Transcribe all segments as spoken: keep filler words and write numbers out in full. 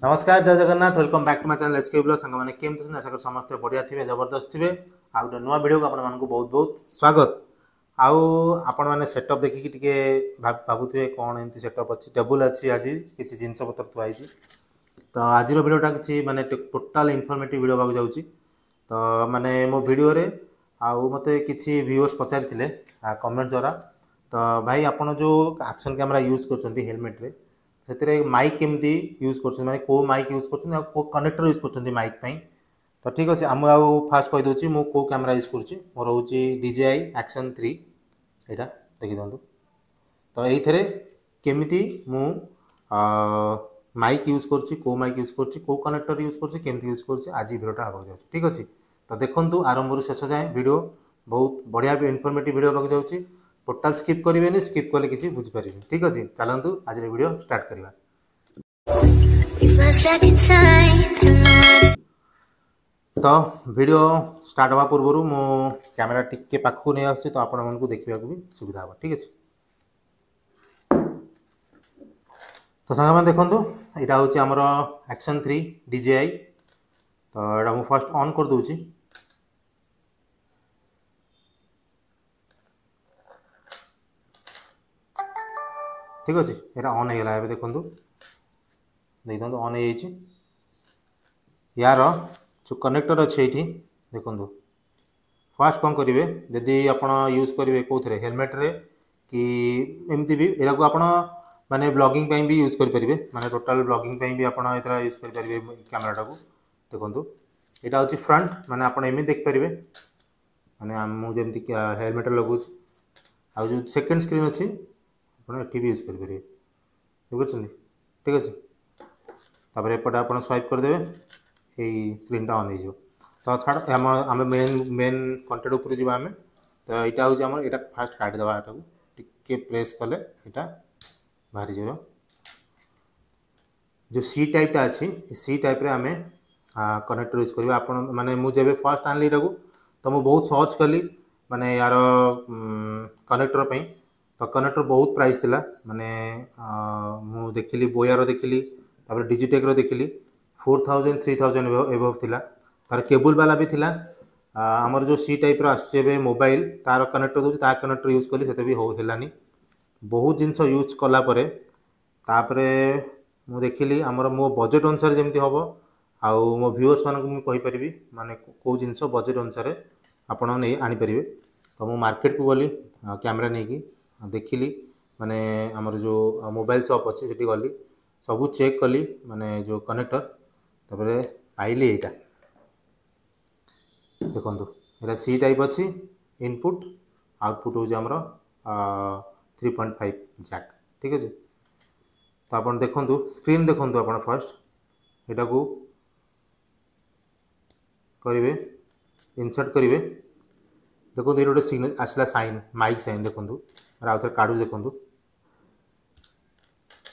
ନମସ୍କାର, ଜୟ Jagannath. Welcome back to my channel S K blog. ସାଙ୍ଗମାନେ, କେମିତି ଅଛନ୍ତି? ଆଶା କরি ସମସ୍ତେ ବଢ଼ିଆ ଥିବେ, ଜବରଦସ୍ତ ଥିବେ। ଆଉ ଗୋଟେ ନୂଆ ଭିଡ଼ିଓକୁ ଆପଣମାନଙ୍କୁ ବହୁତ ବହୁତ ସ୍ୱାଗତ। ଆଉ ଆପଣମାନେ ସେଟଅପ୍ ଦେଖିକି ଟିକେ ଭାବୁଥିବେ କ'ଣ ଏମିତି ସେଟଅପ୍ ଅଛି, ଟେବୁଲ୍ ଅଛି, ଆଜି କିଛି ଜିନିଷପତ୍ର ଥୁଆ ହେଇଛି। ତ ଆଜିର ଭିଡ଼ିଓଟା କିଛି ମାନେ ଟୋଟାଲ୍ ଇନଫର୍ମେଟିଭ୍ ଭିଡ଼ିଓ ହେବାକୁ ଯାଉଛି। ତ ମାନେ ମୋ ଭିଡ଼ିଓରେ ଆଉ ମୋତେ କିଛି ଭିଉଅର୍ସ ପଚାରିଥିଲେ କମେଣ୍ଟ ଦ୍ୱାରା, ତ ଭାଇ, ଆପଣ ଯେଉଁ ଆକ୍ସନ୍ କ୍ୟାମେରା ୟୁଜ୍ କରୁଛନ୍ତି ହେଲମେଟ୍ରେ, ସେଥିରେ ମାଇକ୍ କେମିତି ୟୁଜ୍ କରୁଛନ୍ତି, ମାନେ କେଉଁ ମାଇକ୍ ୟୁଜ୍ କରୁଛନ୍ତି ଆଉ କେଉଁ କନେକ୍ଟର ୟୁଜ୍ କରୁଛନ୍ତି ମାଇକ୍ ପାଇଁ। ତ ଠିକ୍ ଅଛି, ମୁଁ ଆଉ ଫାଷ୍ଟ କହିଦେଉଛି ମୁଁ କେଉଁ କ୍ୟାମେରା ୟୁଜ୍ କରୁଛି। ମୋର ହେଉଛି ଡିଜେଆଇ ଆକ୍ସନ୍ ଥ୍ରୀ, ଏଇଟା ଦେଖିଦିଅନ୍ତୁ। ତ ଏଇଥିରେ କେମିତି ମୁଁ ମାଇକ୍ ୟୁଜ୍ କରୁଛି, କେଉଁ ମାଇକ୍ ୟୁଜ୍ କରୁଛି, କେଉଁ କନେକ୍ଟର ୟୁଜ୍ କରୁଛି, କେମିତି ୟୁଜ୍ କରୁଛି, ଆଜି ଭିଡ଼ିଓଟା ହେବାକୁ ଯାଉଛି। ଠିକ୍ ଅଛି, ତ ଦେଖନ୍ତୁ ଆରମ୍ଭରୁ ଶେଷ ଯାଏଁ ଭିଡ଼ିଓ, ବହୁତ ବଢ଼ିଆ ଇନଫର୍ମେଟିଭ୍ ଭିଡ଼ିଓ ହେବାକୁ ଯାଉଛି। ଟୋଟାଲ୍ ସ୍କିପ୍ କରିବେନି, ସ୍କିପ୍ କଲେ କିଛି ବୁଝିପାରିବେନି। ଠିକ୍ ଅଛି, ଚାଲନ୍ତୁ ଆଜିର ଭିଡ଼ିଓ ଷ୍ଟାର୍ଟ କରିବା। We've lost track of time. Don't know how to ତ ଭିଡ଼ିଓ ଷ୍ଟାର୍ଟ ହେବା ପୂର୍ବରୁ ମୁଁ କ୍ୟାମେରା ଟିକେ ପାଖକୁ ନେଇ ଆସୁଛି, ତ ଆପଣମାନଙ୍କୁ ଦେଖିବାକୁ ବି ସୁବିଧା ହେବ। ଠିକ୍ ଅଛି, ତ ସାଙ୍ଗମାନେ ଦେଖନ୍ତୁ, ଏଇଟା ହେଉଛି ଆମର ଆକ୍ସନ୍ ଥ୍ରୀ ଡିଜେଆଇ। ତ ଏଇଟା ମୁଁ ଫାର୍ଷ୍ଟ ଅନ୍ କରିଦେଉଛି। ଠିକ୍ ଅଛି, ଏଇଟା ଅନ୍ ହେଇଗଲା। ଏବେ ଦେଖନ୍ତୁ, ଦେଖିଦିଅନ୍ତୁ, ଅନ୍ ହେଇଯାଇଛି। ୟାର ଯେଉଁ କନେକ୍ଟର ଅଛି ଏଇଠି ଦେଖନ୍ତୁ। ଫାର୍ଷ୍ଟ କ'ଣ କରିବେ, ଯଦି ଆପଣ ୟୁଜ୍ କରିବେ କେଉଁଥିରେ, ହେଲମେଟ୍ରେ କି ଏମିତି ବି, ଏଟାକୁ ଆପଣ ମାନେ ବ୍ଲଗିଂ ପାଇଁ ବି ୟୁଜ୍ କରିପାରିବେ। ମାନେ ଟୋଟାଲ୍ ବ୍ଲଗିଂ ପାଇଁ ବି ଆପଣ ଏଥିରେ ୟୁଜ୍ କରିପାରିବେ କ୍ୟାମେରାଟାକୁ। ଦେଖନ୍ତୁ, ଏଇଟା ହେଉଛି ଫ୍ରଣ୍ଟ, ମାନେ ଆପଣ ଏମିତି ଦେଖିପାରିବେ, ମାନେ ମୁଁ ଯେମିତି ହେଲମେଟ୍ରେ ଲଗାଉଛି। ଆଉ ଯେଉଁ ସେକେଣ୍ଡ ସ୍କ୍ରିନ୍ ଅଛି, ଆପଣ ଏଠି ବି ୟୁଜ୍ କରିପାରିବେ, ବୁଝୁଛନ୍ତି? ଠିକ୍ ଅଛି, ତାପରେ ଏପଟେ ଆପଣ ସ୍ୱାଇପ୍ କରିଦେବେ, ଏଇ ସ୍କ୍ରିନ୍ଟା ଅନ୍ ହେଇଯିବ। ତ ଛାଡ଼, ଆମ ଆମେ ମେନ୍ ମେନ୍ କଣ୍ଟେଣ୍ଟ ଉପରେ ଯିବା ଆମେ। ତ ଏଇଟା ହେଉଛି ଆମର, ଏଇଟା ଫାଷ୍ଟ କାଟିଦେବା। ଏଟାକୁ ଟିକେ ପ୍ରେସ୍ କଲେ ଏଇଟା ବାହାରିଯିବ। ଯେଉଁ ସି ଟାଇପ୍ଟା ଅଛି, ସି ଟାଇପ୍ରେ ଆମେ କନେକ୍ଟର ୟୁଜ୍ କରିବା। ଆପଣ ମାନେ ମୁଁ ଯେବେ ଫାର୍ଷ୍ଟ ଆଣିଲି ଏଇଟାକୁ, ତ ମୁଁ ବହୁତ ସର୍ଚ୍ଚ କଲି ମାନେ ୟାର କନେକ୍ଟର ପାଇଁ। ତ କନେକ୍ଟର ବହୁତ ପ୍ରାଇସ୍ ଥିଲା। ମାନେ ମୁଁ ଦେଖିଲି, ବୋୟାର ଦେଖିଲି, ତାପରେ ଡିଜିଟେକ୍ର ଦେଖିଲି, four thousand, three thousand above ଥିଲା। ତାର କେବୁଲ୍ ବାଲା ବି ଥିଲା। ଆମର ଯେଉଁ ସି ଟାଇପ୍ର ଆସୁଛି ଏବେ ମୋବାଇଲ, ତାର କନେକ୍ଟର ଦେଉଛି, ତା କନେକ୍ଟର ୟୁଜ୍ କଲି, ସେତେ ବି ହଉ ହେଲାନି। ବହୁତ ଜିନିଷ ୟୁଜ୍ କଲା ପରେ ତାପରେ ମୁଁ ଦେଖିଲି ଆମର ମୋ ବଜେଟ୍ ଅନୁସାରେ ଯେମିତି ହେବ, ଆଉ ମୋ ଭିଉଅର୍ସମାନଙ୍କୁ ମୁଁ କହିପାରିବି ମାନେ କେଉଁ ଜିନିଷ ବଜେଟ୍ ଅନୁସାରେ ଆପଣ ନେଇ ଆଣିପାରିବେ। ତ ମୁଁ ମାର୍କେଟକୁ ଗଲି କ୍ୟାମେରା ନେଇକି, ଦେଖିଲି, ମାନେ ଆମର ଯେଉଁ ମୋବାଇଲ ସପ୍ ଅଛି ସେଠି ଗଲି, ସବୁ ଚେକ୍ କଲି, ମାନେ ଯେଉଁ କନେକ୍ଟର। ତାପରେ ପାଇଲି ଏଇଟା। ଦେଖନ୍ତୁ, ଏଇଟା ସି ଟାଇପ୍ ଅଛି ଇନପୁଟ୍, ଆଉଟପୁଟ୍ ହେଉଛି ଆମର ଥ୍ରୀ ପଏଣ୍ଟ ଫାଇଭ୍ ଜ୍ୟାକ୍। ଠିକ୍ ଅଛି, ତ ଆପଣ ଦେଖନ୍ତୁ, ସ୍କ୍ରିନ୍ ଦେଖନ୍ତୁ। ଆପଣ ଫାର୍ଷ୍ଟ ଏଟାକୁ କରିବେ, ଇନସର୍ଟ କରିବେ। ଦେଖନ୍ତୁ, ଏଇଠି ଗୋଟେ ସିଗ୍ନାଲ ଆସିଲା, ସାଇନ୍, ମାଇକ୍ ସାଇନ୍। ଦେଖନ୍ତୁ, ଆଉ ଥରେ କାଢ଼ୁଛି, ଦେଖନ୍ତୁ,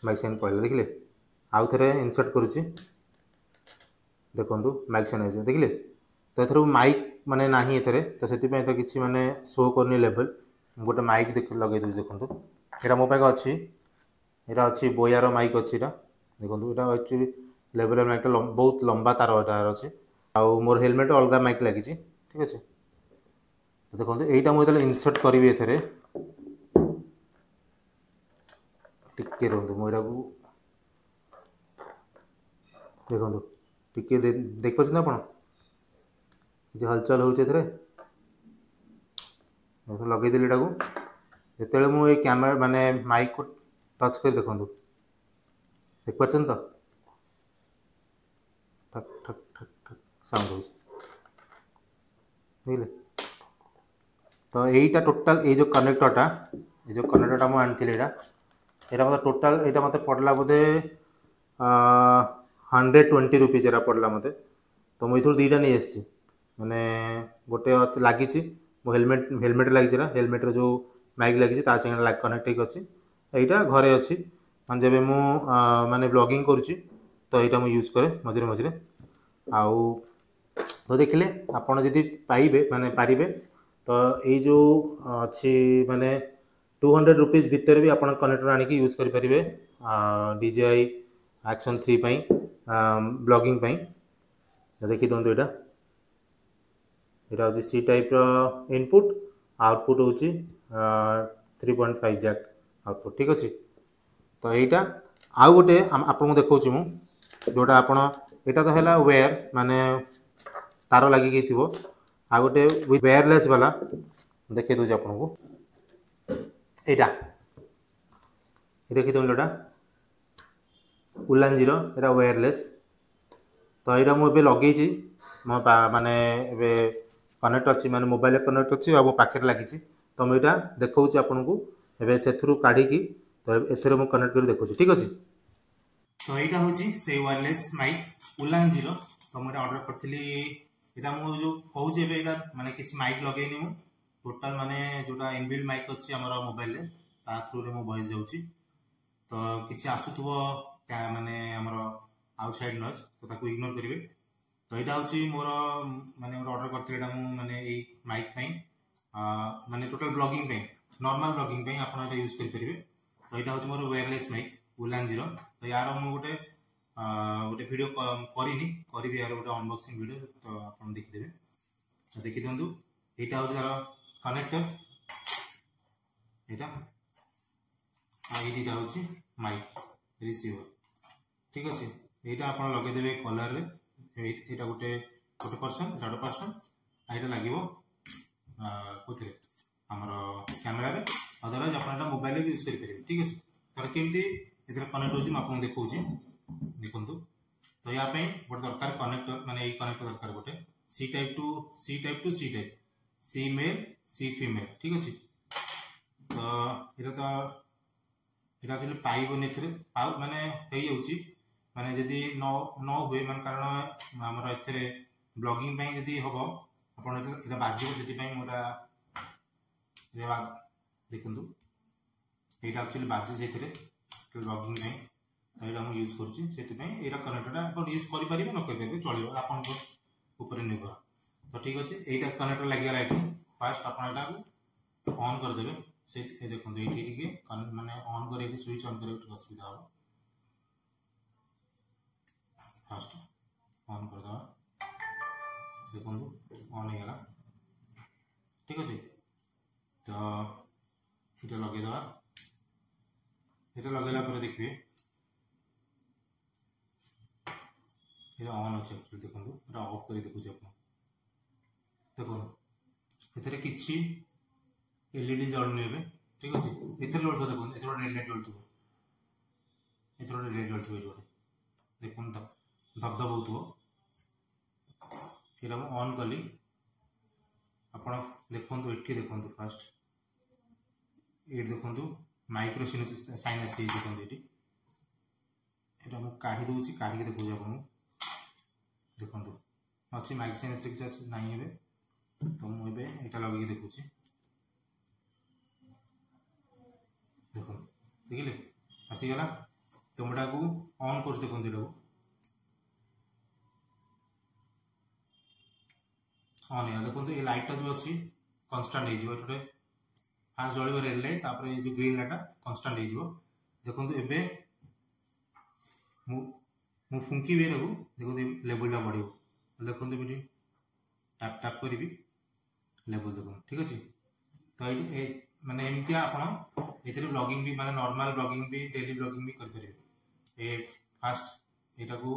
ମାଇକ୍ ସାଇନ୍ ପଳେଇଲା, ଦେଖିଲେ? ଆଉ ଥରେ ଇନସର୍ଟ କରୁଛି, ଦେଖନ୍ତୁ, ମାଇକ୍ ସାଇନ୍ ଆସିବ, ଦେଖିଲେ? ତ ଏଥର ମାଇକ୍ ମାନେ ନାହିଁ ଏଥିରେ, ତ ସେଥିପାଇଁ ତ କିଛି ମାନେ ଶୋ କରୁନି ଲେଭେଲ୍। ଗୋଟେ ମାଇକ୍ ଦେଖ ଲଗେଇ ଦେଉଛି। ଦେଖନ୍ତୁ, ଏଇଟା ମୋ ପାଖେ ଅଛି, ଏଇଟା ଅଛି ବୋୟାର ମାଇକ୍ ଅଛି ଏଇଟା। ଦେଖନ୍ତୁ, ଏଇଟା ଆକ୍ଚୁଆଲି ଲେଭେଲ୍ ମାଇକ୍ଟା ବହୁତ ଲମ୍ବା ତାର ଏଇଟା ଅଛି, ଆଉ ମୋର ହେଲମେଟ୍ ଅଲଗା ମାଇକ୍ ଲାଗିଛି। ଠିକ୍ ଅଛି, ତ ଦେଖନ୍ତୁ, ଏଇଟା ମୁଁ ଯେତେବେଳେ ଇନସର୍ଟ କରିବି ଏଥିରେ, ଟିକେ ରୁହନ୍ତୁ, ମୁଁ ଏଇଟାକୁ ଦେଖନ୍ତୁ ଟିକେ, ଦେଖିପାରୁଛନ୍ତି ଆପଣ କିଛି ହଲଚଲ ହେଉଛି ଏଥିରେ? ଲଗେଇଦେଲି ଏଟାକୁ। ଯେତେବେଳେ ମୁଁ ଏଇ କ୍ୟାମେରା ମାନେ ମାଇକ୍କୁ ଟଚ୍ କରି, ଦେଖନ୍ତୁ, ଦେଖିପାରୁଛନ୍ତି ତ, ଠକ୍ ଠକ୍ ଠକ୍ ଠକ୍ ସାଉଣ୍ଡ ହେଉଛି, ବୁଝିଲେ? ତ ଏଇଟା ଟୋଟାଲ୍ ଏଇ ଯେଉଁ କନେକ୍ଟରଟା ଏଇ ଯେଉଁ କନେକ୍ଟରଟା ମୁଁ ଆଣିଥିଲି, ଏଇଟା ଏଇଟା ମୋତେ ଟୋଟାଲ୍ ଏଇଟା ମୋତେ ପଡ଼ିଲା ବୋଧେ ହଣ୍ଡ୍ରେଡ଼ ଟ୍ୱେଣ୍ଟି ରୁପିଜ୍ ଏଇଟା ପଡ଼ିଲା ମୋତେ। ତ ମୁଁ ଏଇଥିରୁ ଦୁଇଟା ନେଇ ଆସିଛି, ମାନେ ଗୋଟେ ଲାଗିଛି ମୋ ହେଲମେଟ୍, ହେଲମେଟ୍ ଲାଗିଛି ନା, ହେଲମେଟ୍ର ଯେଉଁ ମାଇକ୍ ଲାଗିଛି ତା ସାଙ୍ଗରେ କନେକ୍ଟ ହେଇକି ଅଛି। ଏଇଟା ଘରେ ଅଛି, ମାନେ ଯେବେ ମୁଁ ମାନେ ବ୍ଲଗିଂ କରୁଛି, ତ ଏଇଟା ମୁଁ ୟୁଜ୍ କରେ ମଝିରେ ମଝିରେ। ଆଉ ତ ଦେଖିଲେ, ଆପଣ ଯଦି ପାଇବେ, ମାନେ ପାରିବେ, ତ ଏଇ ଯେଉଁ ଅଛି, ମାନେ ଟୁ ହଣ୍ଡ୍ରେଡ଼ ରୁପିଜ୍ ଭିତରେ ବି ଆପଣ କନେକ୍ଟର ଆଣିକି ୟୁଜ୍ କରିପାରିବେ ଡିଜେଆଇ ଆକ୍ସନ୍ ଥ୍ରୀ ପାଇଁ। ବ୍ଲଗିଂ ପାଇଁ। ଦେଖିଦିଅନ୍ତୁ, ଏଇଟା ଏଇଟା ହେଉଛି ସି ଟାଇପ୍ର ଇନପୁଟ୍, ଆଉଟପୁଟ୍ ହେଉଛି three point five jack output. ଠିକ୍ ଅଛି। ତ ଏଇଟା ଆଉ ଗୋଟେ ଆପଣଙ୍କୁ ଦେଖାଉଛି ମୁଁ, ଯେଉଁଟା ଆପଣ ଏଇଟା ତ ହେଲା ୱେୟାର, ମାନେ ତାର ଲାଗିକି ଥିବ। ଆଉ ଗୋଟେ ୱେୟାରଲେସ୍ ବାଲା ଦେଖେଇ ଦେଉଛି ଆପଣଙ୍କୁ। ଏଇଟା ଦେଖିଦିଅନ୍ତୁ, ଏଇଟା ଉଲାଞ୍ଜିର, ଏଇଟା ୱେୟାରଲେସ୍। ତ ଏଇଟା ମୁଁ ଏବେ ଲଗେଇଛି ମୋ ମାନେ ଏବେ କନେକ୍ଟ ଅଛି, ମାନେ ମୋବାଇଲରେ କନେକ୍ଟ ଅଛି ଆଉ ମୋ ପାଖରେ ଲାଗିଛି। ତ ମୁଁ ଏଇଟା ଦେଖାଉଛି ଆପଣଙ୍କୁ ଏବେ ସେଥିରୁ କାଢ଼ିକି, ତ ଏଥିରେ ମୁଁ କନେକ୍ଟ କରି ଦେଖାଉଛି। ଠିକ୍ ଅଛି। ତ ଏଇଟା ହେଉଛି ସେଇ ୱାୟରଲେସ୍ ମାଇକ୍ ଉଲାଞ୍ଜିର। ତ ମୁଁ ଏଇଟା ଅର୍ଡ଼ର କରିଥିଲି। ଏଇଟା ମୁଁ ଯେଉଁ କହୁଛି ଏବେ, ଏଇଟା ମାନେ କିଛି ମାଇକ୍ ଲଗେଇନି ମୁଁ, ଟୋଟାଲ ମାନେ ଯେଉଁଟା ଇନବିଲ୍ଡ ମାଇକ୍ ଅଛି ଆମର ମୋବାଇଲରେ, ତା ଥ୍ରୁରେ ମୋ ଭଏସ୍ ଯାଉଛି। ତ କିଛି ଆସୁଥିବ ମାନେ ଆମର ଆଉଟସାଇଡ୍ ନଏଜ୍, ତ ତାକୁ ଇଗ୍ନୋର କରିବେ। ତ ଏଇଟା ହେଉଛି ମୋର ମାନେ ଗୋଟେ ଅର୍ଡ଼ର କରିଥିଲି ଏଇଟା ମୁଁ, ମାନେ ଏଇ ମାଇକ୍ ପାଇଁ, ମାନେ ଟୋଟାଲ ବ୍ଲଗିଂ ପାଇଁ, ନର୍ମାଲ ବ୍ଲଗିଂ ପାଇଁ ଆପଣ ଏଇଟା ୟୁଜ୍ କରିପାରିବେ। ତ ଏଇଟା ହେଉଛି ମୋର ୱାୟରଲେସ୍ ମାଇକ୍ ଉଲାଞ୍ଜିର। ତ ୟାର ମୁଁ ଗୋଟେ ଗୋଟେ ଭିଡ଼ିଓ କରିନି, କରିବି ୟାର ଗୋଟେ ଅନବକ୍ସିଂ ଭିଡ଼ିଓ, ତ ଆପଣ ଦେଖିଦେବେ। ତ ଦେଖିଦିଅନ୍ତୁ, ଏଇଟା ହେଉଛି ତାର କନେକ୍ଟର ଏଇଟା, ଆଉ ଏଇ ଦୁଇଟା ହେଉଛି ମାଇକ୍ ରିସିଭର। ଠିକ୍ ଅଛି। ଏଇଟା ଆପଣ ଲଗେଇଦେବେ କଲର୍ରେ, ଏଇଟା ଗୋଟେ ଗୋଟେ ପର୍ସନ୍, ଗୋଟେ ପର୍ସନ୍, ଆଉ ଏଇଟା ଲାଗିବ କୋଉଥିରେ, ଆମର କ୍ୟାମେରାରେ। ଅଦରୱାଇଜ୍ ଆପଣ ଏଇଟା ମୋବାଇଲରେ ବି ୟୁଜ୍ କରିପାରିବେ। ଠିକ୍ ଅଛି। ତାର କେମିତି ଏଥିରେ କନେକ୍ଟ ହେଉଛି ମୁଁ ଆପଣଙ୍କୁ ଦେଖାଉଛି, ଦେଖନ୍ତୁ। ତ ୟା ପାଇଁ ଗୋଟେ ଦରକାର କନେକ୍ଟର, ମାନେ ଏଇ କନେକ୍ଟର ଦରକାର ଗୋଟେ, C type to C type to C type, C male C female. ଠିକ୍ ଅଛି। ତ ଏଇଟା ତ ଏଇଟା ଆକ୍ଚୁଆଲି ପାଇବନି ଏଥିରେ, ପାଉ ମାନେ ହେଇଯାଉଛି, ମାନେ ଯଦି ନ ନ ହୁଏ, ମାନେ କାରଣ ଆମର ଏଥିରେ ବ୍ଲଗିଂ ପାଇଁ ଯଦି ହବ ଆପଣ ଏଇଟା ବାଜିବ, ସେଥିପାଇଁ ମୁଁ ଏଇଟା ଦେଖନ୍ତୁ, ଏଇଟା ଆକ୍ଚୁଆଲି ବାଜେ ସେଇଥିରେ ବ୍ଲଗିଂ ପାଇଁ। ତ ଏଇଟା ମୁଁ ୟୁଜ୍ କରୁଛି, ସେଥିପାଇଁ ଏଇଟା କନେକ୍ଟରଟା ଆପଣ ୟୁଜ୍ କରିପାରିବେ ନ କରିପାରିବେ ଚଳିବ, ଆପଣଙ୍କ ଉପରେ ନିର୍ଭର। ତ ଠିକ୍ ଅଛି, ଏଇଟା କନେକ୍ଟର ଲାଗିଗଲା ଏଠି। ଫାଷ୍ଟ ଆପଣ ଏଟାକୁ ଅନ୍ କରିଦେବେ। ସେଇ ଦେଖନ୍ତୁ, ଏଇଠି ଟିକେ ମାନେ ଅନ୍ କରିକି ସୁଇଚ୍ ଅନ୍ କରିବାକୁ ଟିକେ ଅସୁବିଧା ହେବ। ଫାଷ୍ଟ ଅନ୍ କରିଦେବା, ଦେଖନ୍ତୁ ଅନ୍ ହେଇଗଲା। ଠିକ୍ ଅଛି। ତ ଏଇଟା ଲଗେଇଦେବା। ଏଇଟା ଲଗେଇଲା ପରେ ଦେଖିବେ ଏଇଟା ଅନ୍ ଅଛି ଆକ୍ଚୁଆଲି। ଦେଖନ୍ତୁ, ଏଇଟା ଅଫ୍ କରି ଦେଖୁଛି ଆପଣ, ଦେଖନ୍ତୁ ଏଥିରେ କିଛି ଏଲଇଡି ଜଳୁନି ଏବେ। ଠିକ୍ ଅଛି। ଏଥିରେ ଜଳୁଥିବ, ଦେଖନ୍ତୁ ଏଥିରେ ଗୋଟେ ରେଡ୍ ଲାଇଟ୍ ଜଳୁଥିବ, ଏଥିରେ ଗୋଟେ ରେଡ୍ ଜଳୁଥିବ ଏଇଠି ଗୋଟେ, ଦେଖନ୍ତୁ ଧବଧବ ହେଉଥିବ। ଏଇଟା ମୁଁ ଅନ୍ କଲି, ଆପଣ ଦେଖନ୍ତୁ ଏଠି, ଦେଖନ୍ତୁ ଫାଷ୍ଟ ଏଇଠି ଦେଖନ୍ତୁ ମାଇକ୍ରୋ ସାଇନ୍ ଆସିଯାଇଛି, ଦେଖନ୍ତୁ ଏଇଠି। ଏଇଟା ମୁଁ କାଢ଼ି ଦେଉଛି, କାଢ଼ିକି ଦେଖାଉଛି ଆପଣଙ୍କୁ। ଦେଖନ୍ତୁ ଅଛି ମାଇକ୍ ସାଇନ୍, ଏଥିରେ କିଛି ଅଛି ନାହିଁ ଏବେ। ତ ମୁଁ ଏବେ ଏଇଟା ଲଗେଇକି ଦେଖୁଛି, ଦେଖନ୍ତୁ ଦେଖିଲେ ଆସିଗଲା। ତ ମୁଁ ଏଟାକୁ ଅନ୍ କରୁଛି, ଦେଖନ୍ତୁ ଏଟାକୁ ଅନ୍ ହେଇଗଲା। ଦେଖନ୍ତୁ ଏଇ ଲାଇଟ୍ଟା ଯେଉଁ ଅଛି କନଷ୍ଟାଣ୍ଟ ହେଇଯିବ, ଏଠି ଗୋଟେ ଫାଷ୍ଟ ଜଳିବ ରେଡ୍ ଲାଇଟ୍, ତାପରେ ଏଇ ଯେଉଁ ଗ୍ରୀନ୍ ଲାଇଟ୍ଟା କନଷ୍ଟାଣ୍ଟ ହେଇଯିବ। ଦେଖନ୍ତୁ ଏବେ ମୁଁ ମୁଁ ଫୁଙ୍କିବି ଏଟାକୁ, ଦେଖନ୍ତୁ ଲେବୁଲଟା ବଢ଼ିବ। ଦେଖନ୍ତୁ ଏଠି ଟ୍ୟାପ୍ ଟ୍ୟାପ୍ କରିବି, ଲେବୁଲ ଦେଖନ୍ତୁ। ଠିକ୍ ଅଛି। ତ ଏଇଠି ମାନେ ଏମିତିଆ ଆପଣ ଏଥିରେ ବ୍ଲଗିଂ ବି, ମାନେ ନର୍ମାଲ ବ୍ଲଗିଂ ବି, ଡେଲି ବ୍ଲଗିଂ ବି କରିପାରିବେ। ଏ ଫାଷ୍ଟ ଏଇଟାକୁ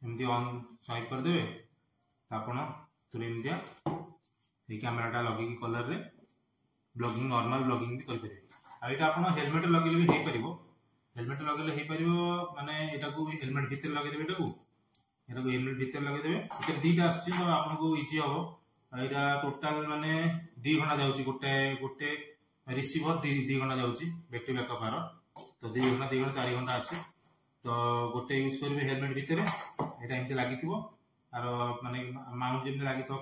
ଏମିତି ଅନ୍ ସ୍ୱାଇପ୍ କରିଦେବେ, ତ ଆପଣ ଏଥିରେ ଏମିତିଆ ଏଇ କ୍ୟାମେରାଟା ଲଗେଇକି କଲର୍ରେ ବ୍ଲଗିଂ, ନର୍ମାଲ ବ୍ଲଗିଂ ବି କରିପାରିବେ। ଆଉ ଏଇଟା ଆପଣ ହେଲମେଟ୍ ଲଗେଇଲେ ବି ହେଇପାରିବ, ହେଲମେଟ୍ ଲଗେଇଲେ ହେଇପାରିବ, ମାନେ ଏଇଟାକୁ ହେଲମେଟ୍ ଭିତରେ ଲଗେଇଦେବେ, ଏଟାକୁ ଏଟାକୁ ହେଲମେଟ୍ ଭିତରେ ଲଗେଇଦେବେ। ଏଥିରେ ଦୁଇଟା ଆସୁଛି, ତ ଆପଣଙ୍କୁ ଇଜି ହେବ। ଏଇଟା ଟୋଟାଲ ମାନେ ଦୁଇ ଘଣ୍ଟା ଯାଉଛି, ଗୋଟେ ଗୋଟେ ରିସିଭର ଦୁଇ ଦୁଇ ଘଣ୍ଟା ଯାଉଛି ବ୍ୟାଟେରୀ ବ୍ୟାକଅପ୍ ଆର। ତ ଦୁଇ ଘଣ୍ଟା, ଦୁଇ ଘଣ୍ଟା ଚାରି ଘଣ୍ଟା ଅଛି। ତ ଗୋଟେ ୟୁଜ୍ କରିବେ ହେଲମେଟ୍ ଭିତରେ, ଏଇଟା ଏମିତି ଲାଗିଥିବ, ଆର ମାନେ ମାଉଣ୍ଟ ଯେମିତି ଲାଗିଥିବ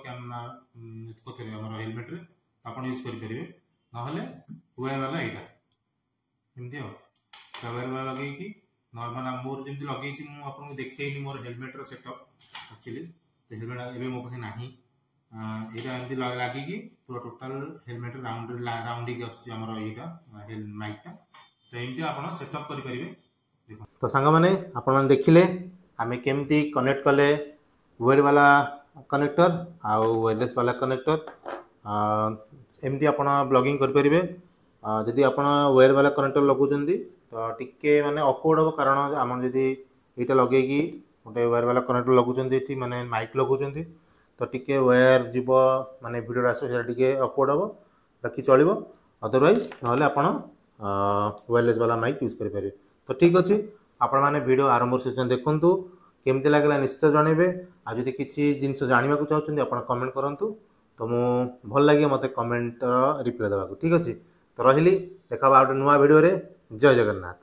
କୋଉଥିରେ ଆମର ହେଲମେଟ୍ରେ, ତ ଆପଣ ୟୁଜ୍ କରିପାରିବେ। ନହେଲେ ୱେୟାର ବାଲା ଏଇଟା ଏମିତି ଆଉ ୱେୟାର ବାଲା ଲଗେଇକି ନର୍ମାଲ ମୋର ଯେମିତି ଲଗେଇଛି ମୁଁ ଆପଣଙ୍କୁ ଦେଖେଇନି ମୋର ହେଲମେଟ୍ର ସେଟଅପ୍ ଆକ୍ଚୁଆଲି। ତ ହେଲମେଟ୍ ଏବେ ମୋ ପାଖେ ନାହିଁ। ଏଇଟା ଏମିତି ଲାଗିକି ପୁରା ଟୋଟାଲ ହେଲମେଟ୍ ରାଉଣ୍ଡ ରାଉଣ୍ଡ ହେଇକି ଆସୁଛି ଆମର ଏଇଟା ମାଇକ୍ଟା। ତ ଏମିତି ଆପଣ ସେଟଅପ୍ କରିପାରିବେ। ଦେଖନ୍ତୁ। ତ ସାଙ୍ଗମାନେ, ଆପଣମାନେ ଦେଖିଲେ ଆମେ କେମିତି କନେକ୍ଟ କଲେ ୱେର୍ ବାଲା କନେକ୍ଟର ଆଉ ୱାୟରଲେସ୍ ବାଲା କନେକ୍ଟର। ଏମିତି ଆପଣ ବ୍ଲଗିଂ କରିପାରିବେ। ଯଦି ଆପଣ ୱେର୍ ବାଲା କନେକ୍ଟର ଲଗାଉଛନ୍ତି ତ ଟିକେ ମାନେ ଅକୱାର୍ଡ଼ ହେବ, କାରଣ ଆମର ଯଦି ଏଇଟା ଲଗେଇକି ଗୋଟେ ୱେର୍ ବାଲା କନେକ୍ଟର ଲଗାଉଛନ୍ତି ଏଠି, ମାନେ ମାଇକ୍ ଲଗାଉଛନ୍ତି, ତ ଟିକେ ୱେୟାର ଯିବ, ମାନେ ଭିଡ଼ିଓଟା ଆସିବ, ସେଇଟା ଟିକେ ଅକୱାର୍ଡ଼ ହେବ, ବାକି ଚଳିବ। ଅଦରୱାଇଜ୍ ନହେଲେ ଆପଣ ୱାୟରଲେସ୍ ବାଲା ମାଇକ୍ ୟୁଜ୍ କରିପାରିବେ। ତ ଠିକ୍ ଅଛି, ଆପଣମାନେ ଭିଡ଼ିଓ ଆରମ୍ଭରୁ ଶେଷ ଯାଏଁ ଦେଖନ୍ତୁ, କେମିତି ଲାଗିଲା ନିଶ୍ଚିତ ଜଣାଇବେ। ଆଉ ଯଦି କିଛି ଜିନିଷ ଜାଣିବାକୁ ଚାହୁଁଛନ୍ତି, ଆପଣ କମେଣ୍ଟ କରନ୍ତୁ, ତ ମୁଁ ଭଲ ଲାଗିବ ମୋତେ କମେଣ୍ଟର ରିପ୍ଲାଏ ଦେବାକୁ। ଠିକ୍ ଅଛି, ତ ରହିଲି, ଦେଖା ହବା ଆଉ ଗୋଟେ ନୂଆ ଭିଡ଼ିଓରେ। ଜୟ ଜଗନ୍ନାଥ।